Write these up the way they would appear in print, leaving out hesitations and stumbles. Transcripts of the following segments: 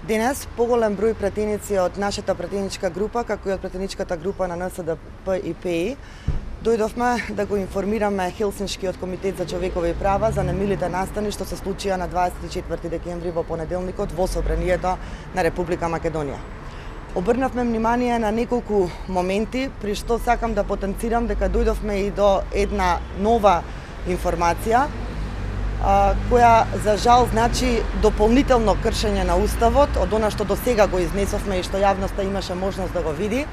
Денес поголем број пратеници од нашата пратеничка група, како и од пратеничката група на НСДП и ПИ, дојдовме да го информираме Хелсиншкиот комитет за човекови права за немилите настани што се случија на 24 декември во понеделникот во собранието на Република Македонија. Обрнавме внимание на неколку моменти, при што сакам да потенцирам дека дојдовме и до една нова информација, која за жал значи дополнително кршење на Уставот од она што до сега го изнесовме и што јавноста имаше можност да го види,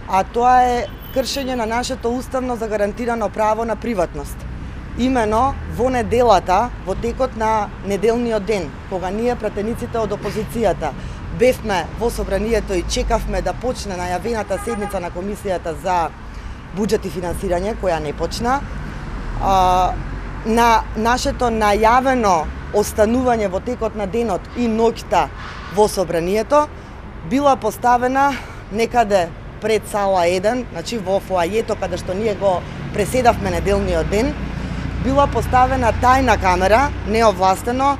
а тоа е кршење на нашето уставно загарантирано право на приватност. Имено во неделата, во текот на неделниот ден, кога ние пратениците од опозицијата бевме во собранието и чекавме да почне најавената седница на Комисијата за буџет и финансирање, која не почна, на нашето најавено останување во текот на денот и ноќта во собранието била поставена некаде пред сала 1, значи во фоајето каде што ние го преседавме неделниот ден, била поставена тајна камера, неовластено,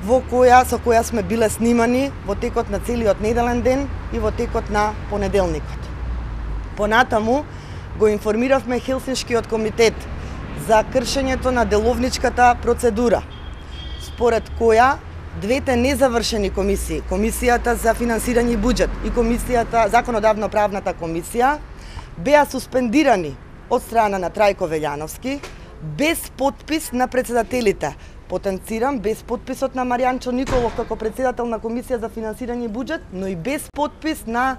со која сме биле снимани во текот на целиот неделен ден и во текот на понеделникот. Понатаму го информиравме Хелсиншкиот комитет за кршењето на деловничката процедура, според која двете незавршени комисии, Комисијата за финансирање и буџет и Комисијата законодавно-правната комисија, беа суспендирани од страна на Трајко Велјановски без подпис на председателите. Потенцирам без подписот на Маријанчо Николов како председател на Комисија за финансирање и буџет, но и без подпис на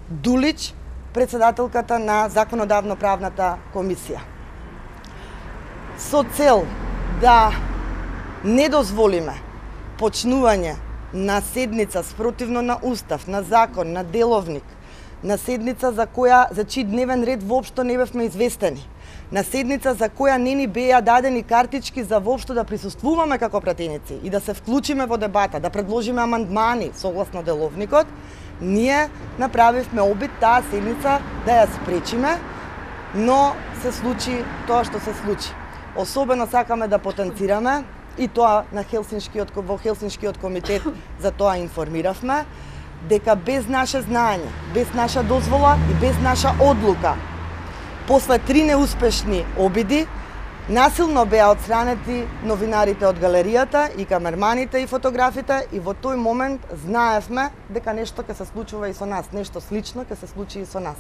Дулич, председателката на законодавно-правната комисија. Со цел да не дозволиме почнување на седница спротивно на Устав, на закон, на деловник, на седница за чиј дневен ред воопшто не бевме известени, на седница за која не ни беа дадени картички за воопшто да присуствуваме како пратеници и да се вклучиме во дебата, да предложиме амандмани согласно деловникот, ние направивме обид таа седница да ја спречиме, но се случи тоа што се случи. Особено сакаме да потенцираме, и тоа во Хелсиншкиот комитет за тоа информиравме, дека без наше знаење, без наша дозвола и без наша одлука, после 3 неуспешни обиди, насилно беа отстранети новинарите од галеријата и камерманите и фотографите, и во тој момент знаевме дека нешто ќе се случува и со нас, нешто слично ќе се случи и со нас.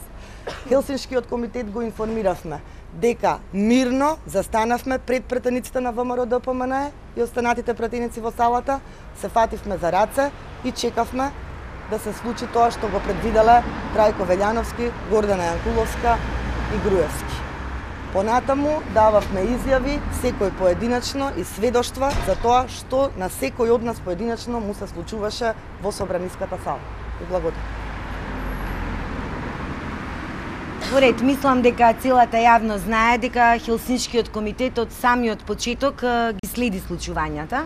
Хелсиншкиот комитет го информиравме дека мирно застанавме пред пратениците на ВМРО ДПМН и останатите пратеници во салата, се фативме за раце и чекавме да се случи тоа што го предвиделе Трајко Велјановски, Гордана Јанкуловска и Груевски. Понатаму дававме изјави, секој поединечно и сведоштва за тоа што на секој од нас поединечно му се случуваше во собраниската сала. И благодарам. Поред, мислам дека целата јавност знае дека Хелсиншкиот комитет од самиот почеток ги следи случувањата.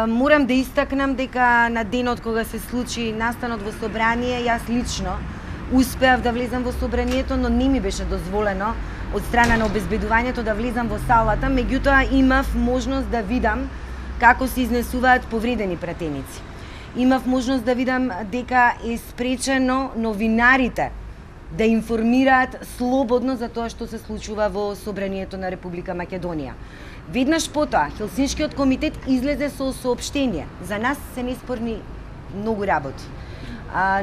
Морам да истакнам дека на денот кога се случи настанот во собрание, јас лично успеав да влезам во собранието, но не ми беше дозволено од страна на обезбедувањето да влезам во салата, меѓутоа имав можност да видам како се изнесуваат повредени пратеници. Имав можност да видам дека е спречено новинарите да информираат слободно за тоа што се случува во собранието на Република Македонија. Веднаш потоа, Хелсиншкиот комитет излезе со соопштение. За нас се неспорни многу работи.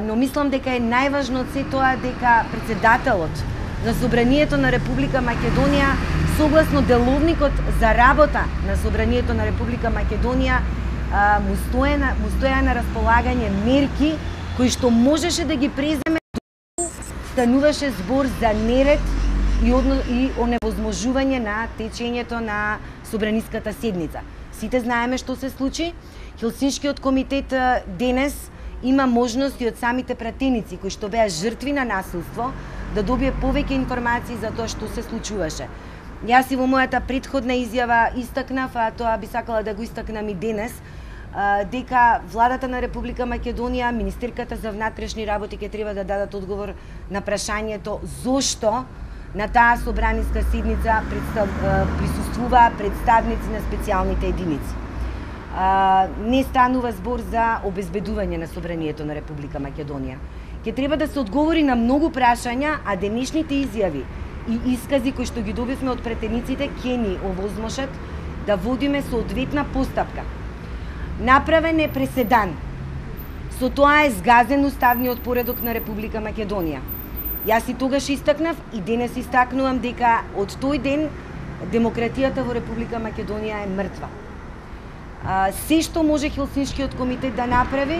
Но мислам дека е најважно од се тоа дека председателот на собранието на Република Македонија, согласно деловникот за работа на собранието на Република Македонија, му стоја на располагање мерки кои што можеше да ги преземе, стануваше збор за неред и оневозможување на течењето на собраниската седница. Сите знаеме што се случи. Хелсиншкиот комитет денес има можности од самите пратеници кои што беа жртви на насилство да добие повеќе информации за тоа што се случуваше. Јас и во мојата претходна изјава истакнав, а тоа би сакала да го истакнам и денес, дека владата на Република Македонија, министерката за внатрешни работи ќе треба да дадат одговор на прашањето зошто на таа собраниска седница присуствуваа представници на специјалните единици. не станува збор за обезбедување на собранието на Република Македонија. Ќе треба да се одговори на многу прашања, а денешните изјави и искази кои што ги добивме од претениците ќе ни овозможат да водиме соодветна постапка. Направен е преседан. Со тоа е згазен уставниот поредок на Република Македонија. Јас и тогаш истакнав и денес истакнувам дека од тој ден демократијата во Република Македонија е мртва. Се што може Хелсиншкиот комитет да направи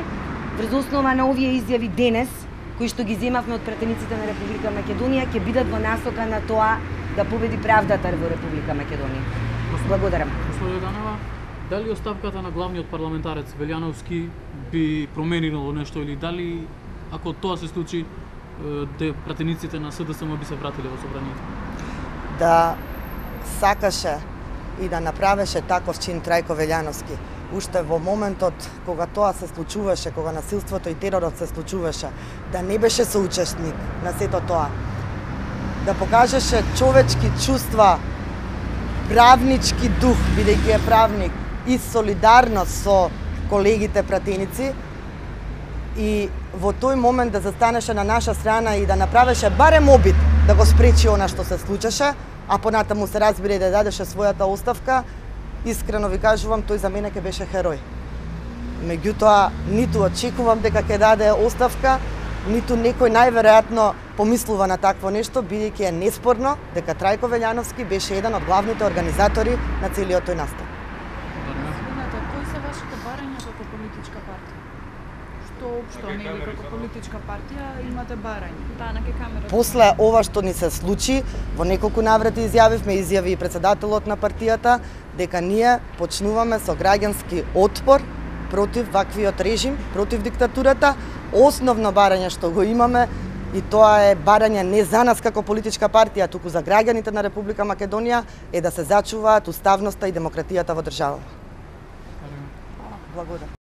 врз основа на овие изјави денес, кои што ги земавме од претениците на Република Македонија, ќе бидат во насока на тоа да победи правдата во Република Македонија. Благодарам. Госпожа Ганева, дали оставката на главниот парламентарец Велјановски би променило нешто или дали ако тоа се случи пратениците на СДСМ би се вратиле во собранието? Да сакаше и да направеше таков чин Трајко Велјановски, уште во моментот кога тоа се случуваше, кога насилството и теророт се случуваше, да не беше соучесник на сето тоа, да покажеше човечки чувства, правнички дух, бидејќи е правник, и солидарност со колегите пратеници, и во тој момент да застанеше на наша страна и да направеше барем обид да го спречи она што се случеше, а понатаму се разбира и да дадеше својата оставка, искрено ви кажувам, тој за мене ќе беше херој. Меѓутоа, ниту очекувам дека ќе даде оставка, ниту некој најверојатно помислува на такво нешто, бидејќи е неспорно дека Трајко Велјановски беше еден од главните организатори на целиот тој настан. Кои се вашите барања како политичка партија? Што општо нели како политичка партија имате барања? Да, на камера. После ова што ни се случи, во неколку наврати изјави и претседателот на партијата, дека ние почнуваме со граѓански отпор против ваквиот режим, против диктатурата. Основно барање што го имаме, и тоа е барање не за нас како политичка партија, туку за граѓаните на Република Македонија, е да се зачуваат уставноста и демократијата во државава. Благодарам.